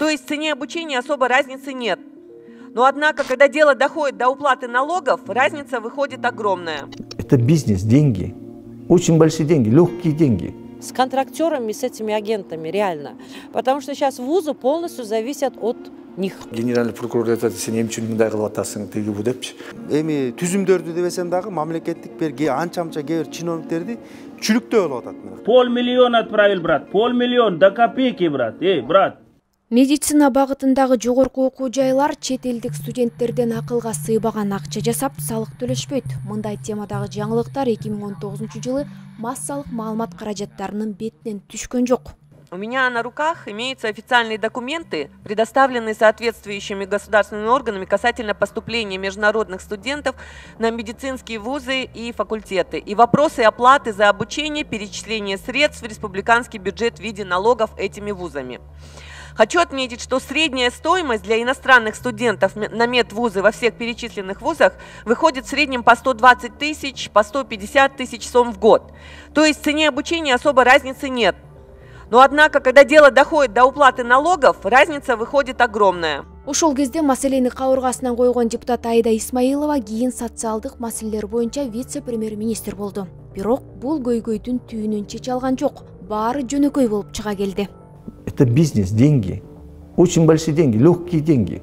То есть в цене обучения особо разницы нет. Но однако, когда дело доходит до уплаты налогов, разница выходит огромная. Это бизнес, деньги. Очень большие деньги, легкие деньги. С контрактерами, с этими агентами, реально. Потому что сейчас вузы полностью зависят от них. Генеральный прокурор айтат, сен эмне үчүн мындай кылып атасың тиги бу депчи. Эми түзүмдөрдү дебесем дагы мамлекеттик берги анча-мынча кээ бир чиновниктерди чүлүктөө болуп атат. 500 000 отправил, брат. 500 000 до копейки, брат. Брат. Медицина багытындагы жогорку окуу жайлар чет элдик студенттерден акылга сыйбаган акча жасап, салык төлөшпөйт. Мындай темадагы жаңылыктар 2019-жылы массалык маалымат каражаттарынын бетинен түшкөн жок. У меня на руках имеются официальные документы, предоставленные соответствующими государственными органами касательно поступления международных студентов на медицинские вузы и факультеты, и вопросы оплаты за обучение, перечисления средств в республиканский бюджет в виде налогов этими вузами. Хочу отметить, что средняя стоимость для иностранных студентов на медвузы во всех перечисленных вузах выходит в среднем по 120 тысяч, по 150 тысяч сом в год. То есть в цене обучения особо разницы нет. Но однако, когда дело доходит до уплаты налогов, разница выходит огромная. Ошол кезде маселени кабыргасынан койгон депутат Айда Исмаилова кийин социалдык маселелер боюнча вице-премьер-министр болду. Бирок бул көйгөйдүн түйүнүн чече алган жок. Баары жөнөкөй болуп чыга келди. Это бизнес, деньги. Очень большие деньги, легкие деньги.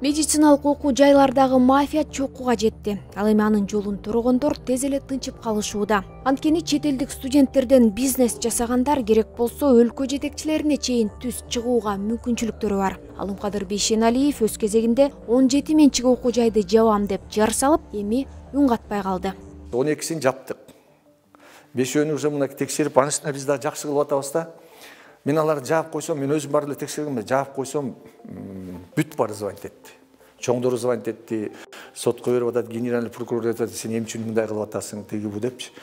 Медициналык окуу жайлардагы мафия чокуга жетти. Ал эми анын жолун тургондор тез эле тынчып калышууда. Анткени чет элдик студенттерден бизнес жасагандар керек болсо өлкө жетекчилерине чейин түз чыгууга мүмкүнчүлүктөрү бар. Алымкадыр Бейшеналиев өз кезегинде 17 менчик окуу жайды жабам деп жар салып, эми үн катпай калды. 12-син жаптык. 5-өөнү уже мына текшерип, анысына биз да жакшы кылып атабыз да. Мен аларды жаап койсом, мен өзүм бар эле текшергенмин, жаап койсом, бүт бары звонить этти. Чоңдору звонить этти, сотко берип атат, генеральный прокурор айтат, сен эмне үчүн мындай кылып атасың, тиги бу депчи.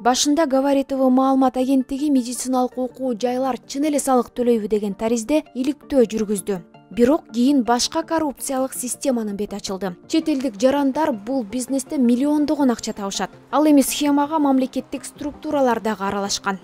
Башында Говоритово маалымат агенттиги медициналык окуу жайлар чын эле салык төлөйбү деген таризде иликтөө жүргүздү. Бирок кийин башка коррупциялык системанын бети ачылды. Чет элдик жарандар бул бизнесте миллиондогон акча табышат. Ал эми схемага мамлекеттик структуралар дагы аралашкан.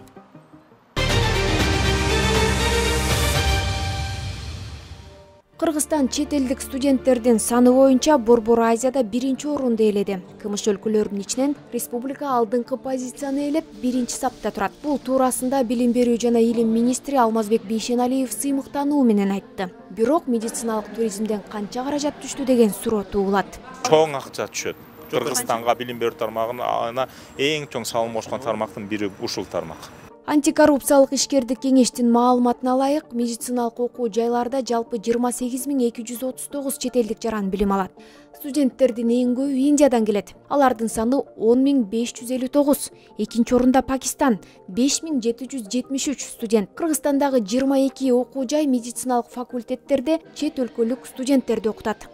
Кыргызстан чет элдик студенттердин саны боюнча Борбор Азияда 1-орунду ээледи. КМШ өлкөлөрүнүн ичинен республика алдыңкы позицияны ээлеп 1-сапта турат. Бул туурасында Билим берүү жана илим министри Алмазбек Бейшеналиев сыймыктануу менен айтты. Бирок медициналык туризмден канча каражат түштү деген суроо туулат. Чоң акча түшөт. Кыргызстанга билим берүү тармагына эң чоң салым кошкон тармактын бири ушул тармак. Антикоррупциялык ишкердик кеңештин маалыматына ылайык, медициналык окуу жайларда жалпы 28 239 чет элдик жаран билим алат. Студенттердин эң көбү Индиядан келет. Алардын саны 10 559. Экинчи орунда Пакистан 5773 студент. Кыргызстандагы 22 окуу жай медициналык факультеттерде чет өлкөлүк студенттерди окутат.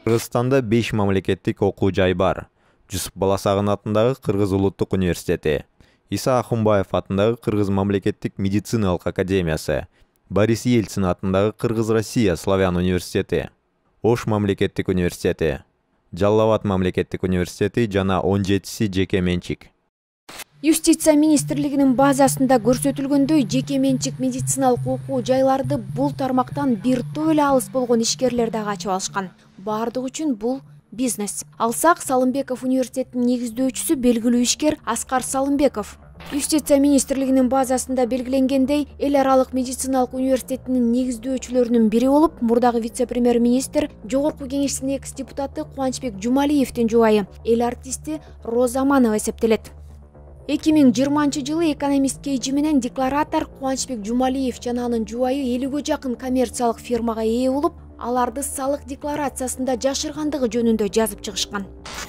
Кыргызстанда 5 мамлекеттик окуу жай бар. Жусуп Баласагын атындагы Кыргыз улуттук университети, Иса Ахунбаев атындагы Кыргыз мамлекеттик медициналык академиясы, Борис Ельцин атындагы Кыргыз-Россия славян университети, Ош мамлекеттик университети, Жалал-Абад мамлекеттик университети жана 17 жеке менчик. Юстиция министрлигинин базасында көрсөтүлгөндөй, жеке менчик медициналык окуу жайларды бул тармактан бир топ эле алыс болгон ишкерлер дагы ачып алышкан. Бардык үчүн бул бизнес. Алсак, Салымбеков университетинин негиздөөчүсү белгилүү ишкер Аскар Салымбеков. Юстиция министрлигинин базасында белгиленгендей, эл аралык медициналык университетинин негиздөөчүлөрүнүн бири болуп, мурдагы вице-премьер-министр, жогорку кеңештин экс-депутаты Кубанычбек Жумалиевдин жубайы, эл артисти Роза Манова эсептелет. 2020-жылы экономист кейжи менен декларатор Кубанычбек Жумалиев жана анын жубайы 50-гө жакын коммерциялык фирмага ээ болуп, аларды салык декларациясында жашыргандыгы жөнүндө жазып чыгышкан.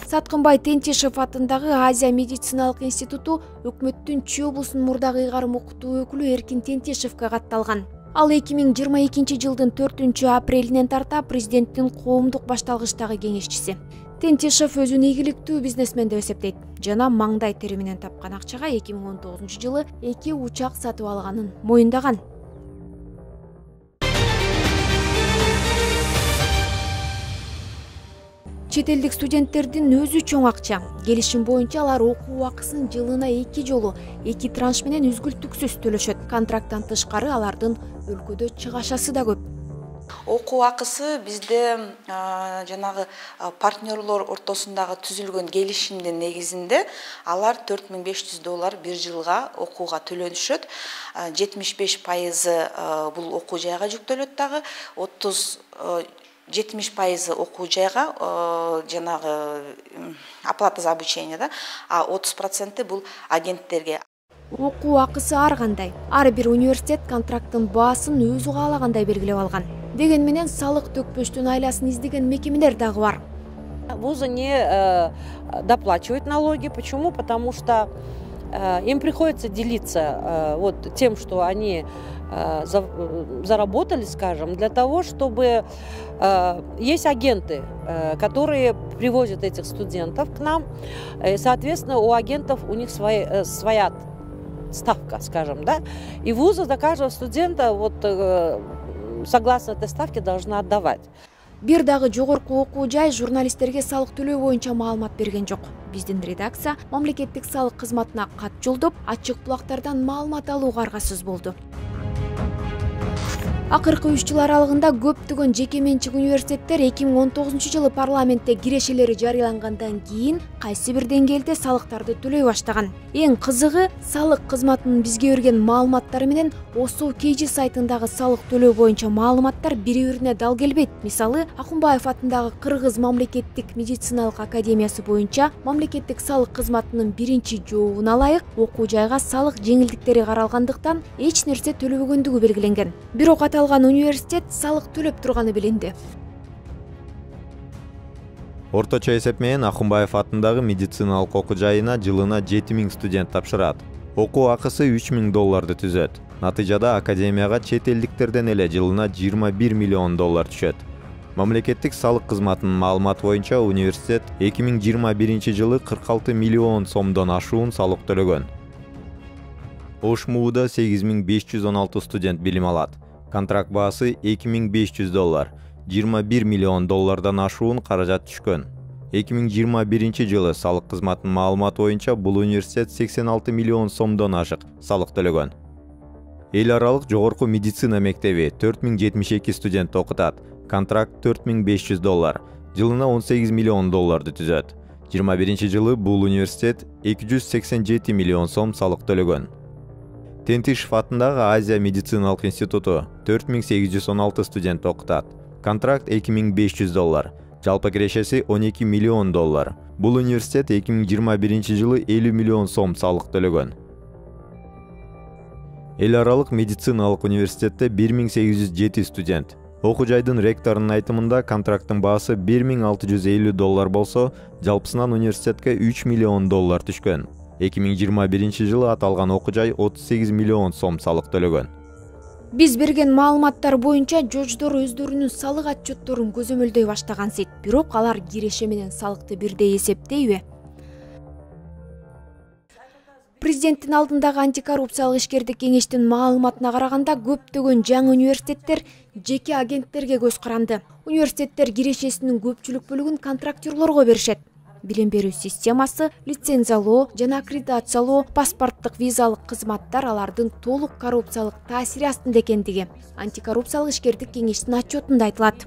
Саткынбай Тентишев атындагы Азия медициналык институту өкмөттүн Чүй облусунун мурдагы ыйгарым окутуу өкүлү Эркин Тентишевге катталган. Ал 2022-жылдын 4-апрелинен тарта президенттин коомдук башталгычтагы кеңешчиси. Тентишев өзүн ийгиликтүү бизнесмен деп эсептейт жана маңдай тери менен тапкан акчага 2019-жылы 2 учак сатып алганын моюндаган. Чет элдик студенттердин өзү чоң акча. Келишим боюнча алар окуу акысын жылына 2 жолу 2 транш менен үзгүлтүксүз төлөшөт. Контракттан тышкары алардын өлкөдө чыгашасы да көп. Окуу акысы бизде жанагы партнерлор ортосундагы түзүлгөн келишимдин негизинде алар $4500 бир жылга окууга төлөнүшөт. 75% бул окуу жайга жүктөлөт дагы, 70% окуу жайга жанагы оплата за обучение да, а 30% бул агенттерге. Окуу акысы ар кандай. Ар бир университет контракттын баасын өзү каалагандай белгилеп алган. Деген менен салык төкпөстүн айласын издеген мекемелер дагы бар. Вузы не доплачивают налоги. Почему? Потому что им приходится делиться вот тем, что они заработали, скажем, для того, чтобы есть агенты, которые привозят этих студентов к нам. И, соответственно, у агентов у них своя ставка, скажем, да. И вузы за каждого студента вот согласно этой ставке должны отдавать. Бир дагы жогорку окуу жай журналисттерге салык төлөө боюнча маалымат берген жок. Биздин редакция мамлекеттик салык кызматына кат жолдоп, ачык булактардан маалымат алууга аргасыз болду. Акыркы 3 жыл аралыгында көптөгөн жеке менчик университеттер 2019 жылы парламентте кирешелери жарыялангандан кийин кайсы бир деңгээлде салыктарды төлөй баштаган. Эң кызыгы, салык кызматынын бизге берген маалыматтары менен ОСО KG сайтындагы салык төлөө боюнча маалыматтар бири-бирине дал келбейт. Мисалы, Акунбаев атындагы Кыргыз мамлекеттик медициналык академиясы боюнча мамлекеттик салык кызматынын биринчи жообуна ылайык окуу жайга салык жеңилдиктери каралгандыктан эч нерсе төлөбөгөндүгү белгиленген. Бирок аталган университет салык төлөп турганы билинди. Орточо эсеп менен Акунбаев атындагы медициналык окуу жайына жылына 7000 студент тапшырат. Окуу акысы $3000 түзөт. Натыйжада академияга чет элдиктерден эле жылына $21 миллион түшөт. Мамлекеттик салык кызматынын маалыматы боюнча университет 2021 жылы 46 миллион сомдон ашуун салык төлөгөн. ОШМУда 8516 студент билим алат. Контракт баасы $2500, $21 миллион ашуун каражат түшкөн. 2021 жылы салык кызматынын маалыматы боюнча бул университет 86 миллион сомдон ашык салык төлөгөн. Эл аралык жогорку медицина мектеби 4072 студент окутат. Контракт $4500, жылына $18 миллион түзөт. 21 жылы бул университет 287 миллион сом салык төлөгөн. Тентишев атындагы Азия медициналык институту 4816 студент окутат. Контракт $2500, жалпы кирешеси $12 миллион. Бул университет 2021 жылы 50 миллион сом салык төлөгөн. Эл аралык медициналык университетте 1807 студент. Окуу жайдын ректорунун айтымында контракттын баасы $1650 болсо, жалпысынан университетке $3 миллион түшкөн. 2021 жылы аталган окуу жай 38 миллион сом салык төлөгөн. Биз берген маалыматтар боюнча жождор өздөрүнүн салык отчетторун көзөмөлдөй баштагансыйт. Бирок алар киреше менен салыкты бирдей эсептейби? Президенттин алдындагы антикоррупциялык ишкердик кеңештин маалыматына караганда көптөгөн жаңы университеттер жеке агенттерге көз каранды. Университеттер кирешесинин көпчүлүк бөлүгүн контрактерлорго беришет. Билим берүү системасы, лицензиялоо жана аккредитациялоо, паспорттук визалык кызматтар алардын толук коррупциялык таасири астында экендиги антикоррупциялык ишкердик кеңештин отчетунда айтылат.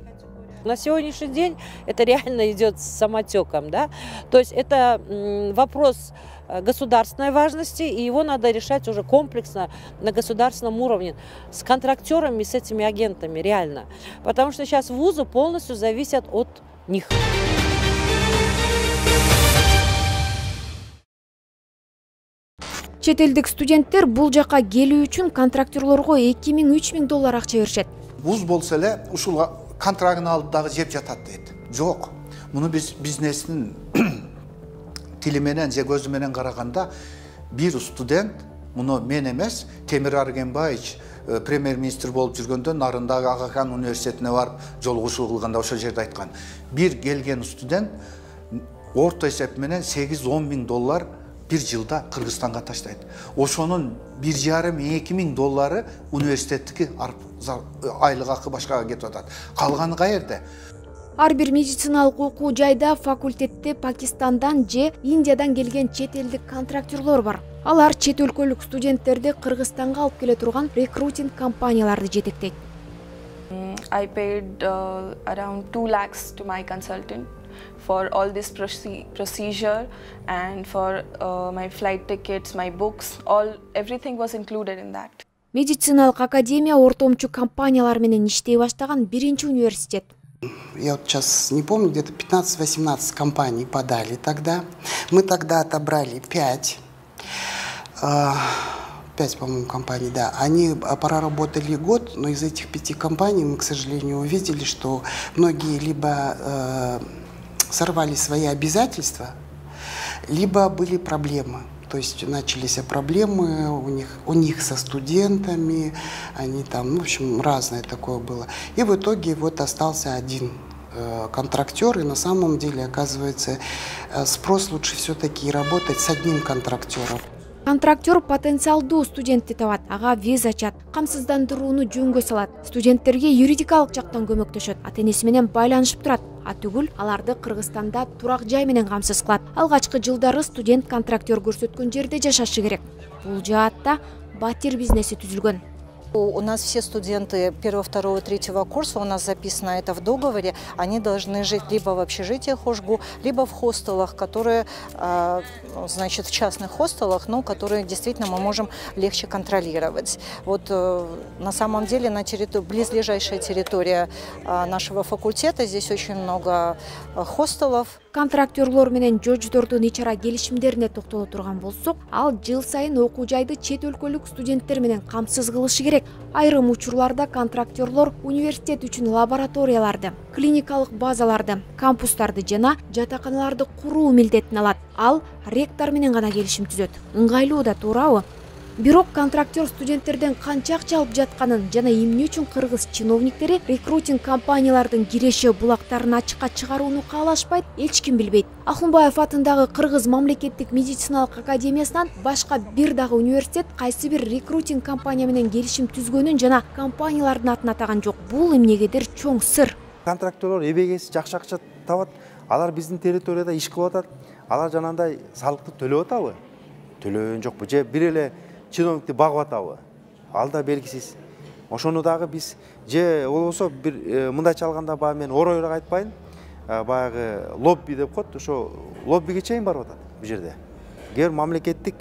На сегодняшний день это реально идет самотеком, да? То есть это вопрос государственной важности, и его надо решать уже комплексно на государственном уровне с контрактерами, с этими агентами, реально. Потому что сейчас вузы полностью зависят от них. Чет элдик студенттер бул жака келүү үчүн контрактерлорго $2000–3000 акча беришет. Вуз болсо эле ушул контрагын алып дагы жеп жатат дейт. Жок. Муну биз бизнестин тили менен же көзү менен караганда бир студент, муну мен эмес, Темир Аргенбаевич премьер-министр болуп жүргөндө нарындагы Ага хан университетине барып жолугушуу кылганда ошол жерде айткан. Бир келген студент орто эсеп менен $8–10 миң бир жылда Кыргызстанга таштайт. Ошонун $1,5–2 миң университеттики айлык акы башкага кетип атат. Калганы каерде? Ар бир медициналык окуу жайда факультетте Пакистандан же Индиядан келген чет элдик контрактерлор бар. Алар чет өлкөлүк студенттерди Кыргызстанга алып келе турган рекрутинг компанияларды жетектейт. I paid around 2 lakhs to my consultant for all this procedure and for my flight tickets, my books, everything was included in that. Медициналык академия ортомчу компаниялар менен иштей баштаган биринчи университет. Я вот сейчас не помню, где-то 15-18 компаний подали тогда. Мы тогда отобрали 5. 5, по-моему, компаний, да. Они проработали год, но из этих 5 компаний мы, к сожалению, увидели, что многие либо сорвали свои обязательства, либо были проблемы. То есть начались проблемы у них со студентами, они там, в общем, разное такое было. И в итоге вот остался один контрактер, и на самом деле, оказывается, спрос лучше все-таки работать с одним контрактером. Контрактер потенциалдуу студентти табат, ага виз ачат, камсыздандырууну жөнгө салат, студенттерге юридикалык жактан көмөктөшөт, ата-энеси менен байланышып турат, түгүл аларды Кыргызстанда турак жай менен камсыз кылат. Алгачкы жылдары студент контрактер көрсөткөн жерде жашашы керек. Бул жаатта батир бизнеси түзүлгөн. У нас все студенты 1, 2, 3 курса, у нас записано это в договоре, они должны жить либо в общежитиях ХОЖГУ, либо в хостелах, которые, значит, в частных хостелах, но которые действительно мы можем легче контролировать. Вот на самом деле на близлежащая территория нашего факультета, здесь очень много хостелов. Контрактерлор менен жождордун ичара келишимдерине токтоло турган болсок, ал жыл сайын окуу жайды чет өлкөлүк студенттер менен камсыз кылышы керек. Айрым учурларда контрактерлор университет үчүн лабораторияларды, клиникалык базаларды, кампустарды жана жатаканаларды куруу милдетин алат. Ал ректор менен гана келишим түзөт. Ыңгайлуу да, туурабы? Бирок контрактер студенттерден канча акча алып жатканын жана эмне үчүн кыргыз чиновниктери рекрутинг компаниялардын киреше булактарын ачыкка чыгарууну каалашпайт, эч ким билбейт. Ахунбаев атындагы Кыргыз мамлекеттик медициналык академиясынан башка бир дагы университет кайсы бир рекрутинг компания менен келишим түзгөнүн жана компаниялардын атын атаган жок. Бул эмнегедир чоң сыр. Контрактерлор эбегеси жакшы акча табат, алар биздин территорияда иш кылып атат, алар жанагындай салыкты төлөп атабы? Төлөгөн жокпу же бир эле чиновникти багып атабы? Ал да белгисиз. Ошону дагы биз же болбосо бир мындайча алганда баягы мен оройраак айтпайын, баягы лобби деп коет, ошо лоббиге чейин барып атат бул жерде. Кээ бир мамлекеттик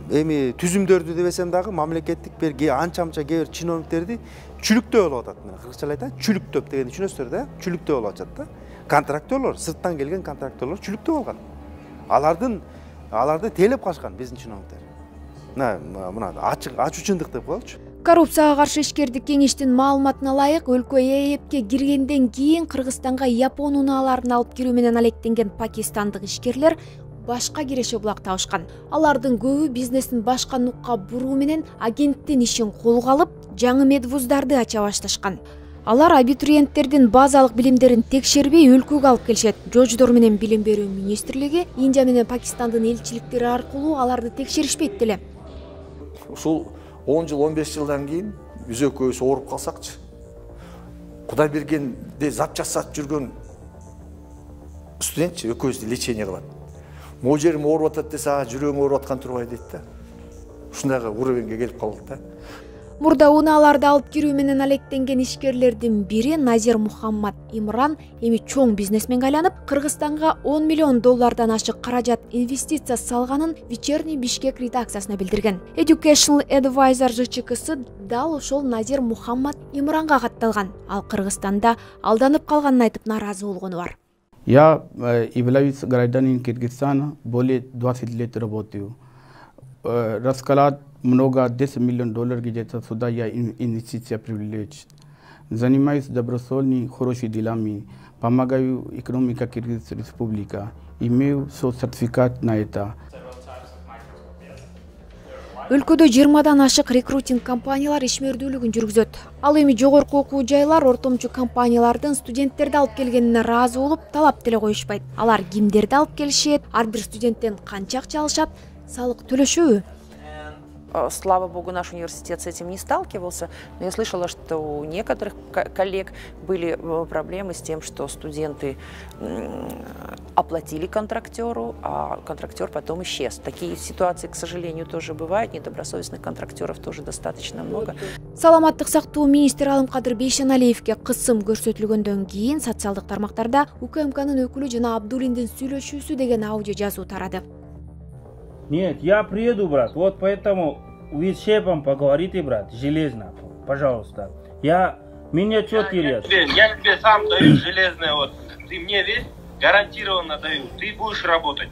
эми түзүмдөрдү дебесем дагы мамлекеттик бир анча-мынча кээ бир чиновниктерди чүлүктөө болуп атат. Мен кыргызча айтайын, чүлүктөп дегенди түшүнөсүздөр да? Чүлүктөө болуп атат да. Контрактерлор, сырттан келген контрактерлор чүлүктөө болгон. Аларды тейлеп калышкан биздин чиновниктер. Мына ачуучундук деп коелучу. Коррупцияга каршы ишкердик кеңештин маалыматына ылайык, өлкө ЭЭПке киргенден кийин Кыргызстанга Япон унааларын алып кирүү менен алектенген пакистандык ишкерлер башка киреше булак табышкан. Алардын көбү бизнесин башка нукка буруу менен агенттин ишин колго алып, жаңы медвуздарды ача башташкан. Алар абитуриенттердин базалык билимдерин текшербей өлкөгө алып келишет. Жождор менен билим берүү министрлиги Индия менен Пакистандын элчиликтери аркылуу аларды текшеришпейт деле. Ушул 10 жыл, 15 жылдан кийин биз экөөбүз ооруп калсакчы. Кудай бергенде зап жасап жүргөн студент экөөбүздү лечение кылат. Могу жерим ооруп атат десе, жүрөгүң ооруп аткан турбай дейт да. Ушундайга уровеньге келип калдык да. Мурда унааларды алып кирүү менен алектенген ишкерлердин бири Назир Мухаммад Имран эми чоң бизнесменге айланып, Кыргызстанга $10 миллион ашык каражат инвестиция салганын Вечерний Бишкек редакциясына билдирген. Educational Advisor ЖЧКсы дал ошол Назир Мухаммад Имранга катталган. Ал Кыргызстанда алданып калганын айтып наразы болгону бар. Я являюсь гражданином Кыргызстана, более 20 лет работаю. Расклад много, $10 миллионов где-то сюда я инвестиция привлечь. Занимаюсь добросольными, хорошими делами, помогаю экономике Кыргызской республики, имею сертификат на это. Өлкөдө 20-дан ашык рекрутинг компаниялар ишмердүүлүгүн жүргүзөт. Ал эми жогорку окуу жайлар ортомчу компаниялардын студенттерди алып келгенине ыраазы болуп, талап деле коюшпайт. Алар кимдерди алып келишет, ар бир студенттен канча акча алышат, салык төлөшөбү? слава богу, наш университет с этим не сталкивался, но я слышала, что у некоторых коллег были проблемы с тем, что студенты оплатили контрактеру, а контрактер потом исчез. Такие ситуации, к сожалению, тоже бывают, недобросовестных контрактеров тоже достаточно много. Саламаттык сактоо министри Алымкадыр Бейшеналиевге кысым көрсөтүлгөндөн кийин социалдык тармактарда УКМКнын өкүлү жана Абдуллиндин сүйлөшүүсү деген аудио жазуу тарады. Нет, я приеду, брат, вот поэтому вы с шефом поговорите, брат, железно, пожалуйста. Меня что терять? Я тебе сам даю железное, вот, ты мне весь гарантированно даю, ты будешь работать.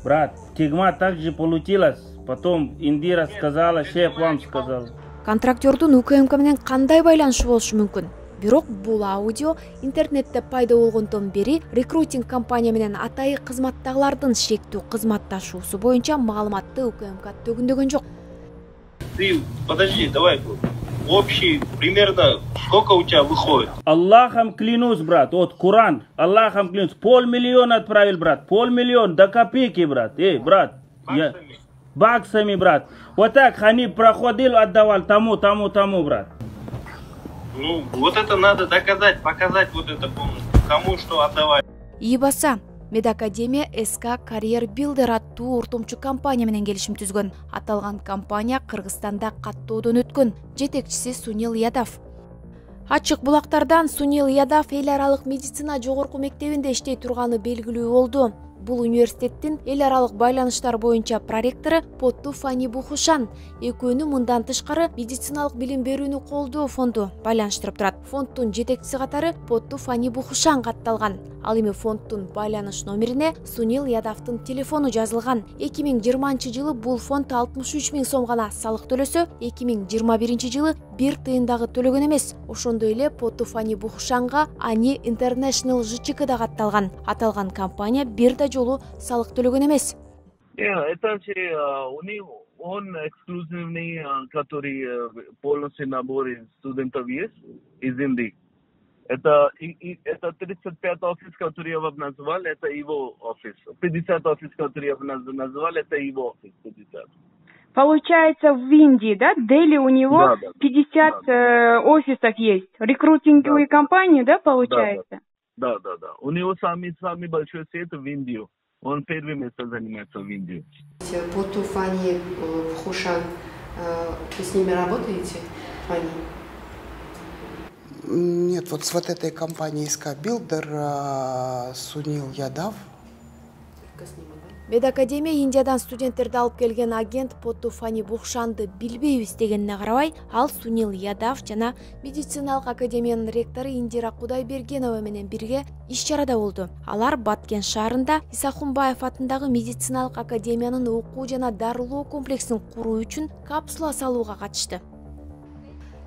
Брат, тигма так же получилось, потом Индира сказала, шеф вам сказал. Контрактердун УКМК менен кандай байланышы болушу мүмкүн? Бирок бул аудио интернетте пайда болгондон бери рекрутинг компания менен атайы кызматтагылардын шектүү кызматташуусу боюнча маалыматты УКМК төгүндөгөн жок. Ты, подожди, давай, общий, примерно, сколько у тебя выходит? Аллахом клянусь, брат, вот Куран, Аллахом клянусь, 500 000 отправил, брат, 500 000 до копейки, брат, брат. Баксами, брат. Вот так Ханиб проходил, отдавал тому, брат. Ну, вот это надо доказать, показать вот это полностью, кому что отдавать. Ибаса, Медакадемия СК Карьер Билдер аттуу ортомчу компания менен келишим түзгөн. Аталган компания Кыргызстанда каттоодон өткөн. Жетекчиси Сунил Ядав. Ачык булактардан Сунил Ядав эл аралык медицина жогорку мектебинде иштей турганы белгилүү болду. Бул университеттин эл аралык байланыштар боюнча проректору Потту Фани Бухушан экөөнү мындан тышкары медициналык билим берүүнү колдоо фонду байланыштырып турат. Фонддун жетекчиси катары Потту Фани Бухушан катталган. Ал эми фонддун байланыш номерине Сунил Ядавдын телефону жазылган. 2020-жылы бул фонд 63 000 сом гана салык төлөсө, 2021-жылы 1 тыйын дагы төлөгөн эмес. Ошондой эле Потту Фани Бухушанга Ани International ЖЧК да катталган. Аталган компания бир да жолу салык төлөгөн эмес. Это он эксклюзивный, который полностью набор из студентов есть, из Индии. Это 35 офис, который я вам назвал, это его офис. 50 офис, который я вам назвал, это его офис. 50. Получается, в Индии, да, Дели у него 50 офисов есть. Рекрутинговые компании, да, получается? Да. У него самый большой сеть в Индию. Он первое место занимается в Индии. Потту Фани Бухушан, вы с ними работаете, Фани? Нет, вот с вот этой компанией СК Билдер Сунил Ядав. Медакадемия Индиядан студенттерди алып келген агент Потту Фани Бухушанды билбейбиз дегенине карабай, ал Сунил Ядав жана медициналык академиянын ректору Индира Кудайбергенова менен бирге иш чарада болду. Алар Баткен шаарында Исахунбаев атындагы медициналык академиянын окуу жана дарылоо комплексин куруу үчүн капсула салууга катышты.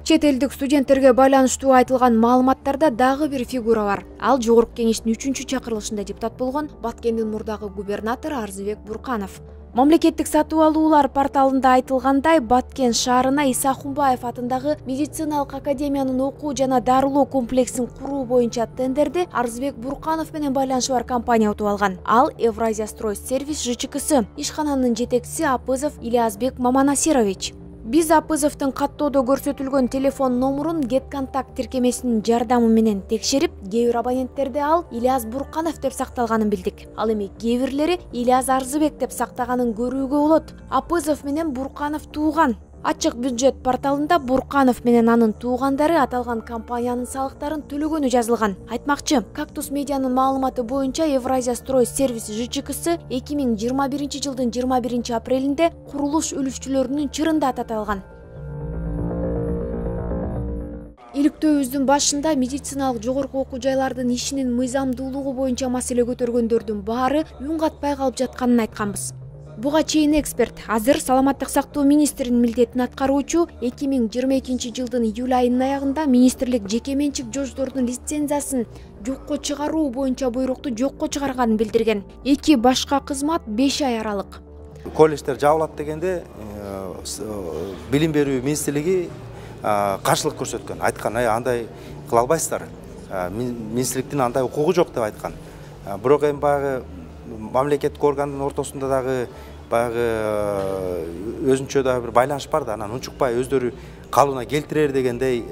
Чет элдик студенттерге байланыштуу айтылган маалыматтарда дагы бир фигура бар. Ал жогорку кеңештин 3-чакырылышында депутат болгон Баткендин мурдагы губернатору Арзыбек Бурканов. Мамлекеттик сатуу алуулар порталында айтылгандай, Баткен шаарына Исахунбаев атындагы медициналык академиянын окуу жана дарылоо комплексин куруу боюнча тендерди Арзыбек Бурканов менен байланышы бар компания утуп алган. Ал Евразия строй сервис ЖЧКсы. Ишкананын жетекчиси Апызов Ильязбек Маманасирович. Биз Апызовдун каттоодо көрсөтүлгөн телефон номурун GetContact тиркемесинин жардамы менен текшерип, кээ бир абоненттерде ал Ильяз Бурканов деп сакталганын билдик. Ал эми кээ бирлери Ильяз Арзыбек деп сактаганын көрүүгө болот. Апызов менен Бурканов тууган. Ачык бюджет порталында Бурканов менен анын туугандары аталган компаниянын салыктарын төлөгөнү жазылган. Айтмакчы, Кактус медианын маалыматы боюнча Евразия строй сервис ЖЧКсы 2021-жылдын 21-апрелинде курулуш үлүшчүлөрүнүн чырында таталган. Иликтөөбүздүн башында медициналык жогорку окуу жайлардын ишинин мыйзамдуулугу боюнча маселе көтөргөндөрдүн баары үн катпай калып жатканын айтканбыз. Буга чейин эксперт, азыр саламаттык сактоо министринин милдетин аткаруучу 2022-жылдын июль айынын аягында министрлик жеке менчик жождордун лицензиясын жокко чыгаруу боюнча буйрукту жокко чыгарганын билдирген. Эки башка кызмат 5 ай аралык. Колледждер жабылат дегенде билим берүү министрлиги каршылык көрсөткөн. Айткан, андай кыла албайсыздар. Министрликтин андай укугу жок деп айткан. Бирок эми баягы мамлекеттик органдын ортосунда дагы баягы өзүнчө да бир байланыш бар да, анан унчукпай өздөрү калыбына келтирер дегендей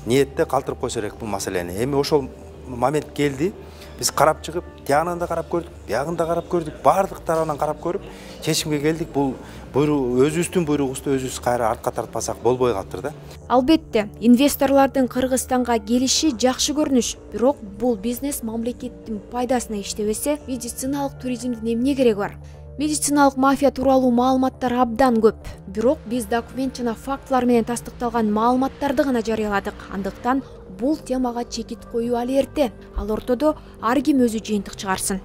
ниетте калтырып койсо керек бул маселени. Эми ошол момент келди. Биз карап чыгып, тиягынан да карап көрдүк, биягын да карап көрдүк, баардык тарабынан карап көрүп, чечимге келдик. Бул өзүбүздүн буйругубузду өзүбүз кайра артка тартпасак болбой калыптыр да. Албетте, инвесторлордун Кыргызстанга келиши жакшы көрүнүш, бирок бул бизнес мамлекеттин пайдасына иштебесе, медициналык туризмдин эмне кереги бар? Медициналык мафия тууралуу маалыматтар абдан көп. Бирок биз документ жана фактылар менен тастыкталган маалыматтарды гана жарыяладык. Андыктан бул темага чекит коюу али эрте. Ал ортодо ар ким өзү жыйынтык чыгарсын.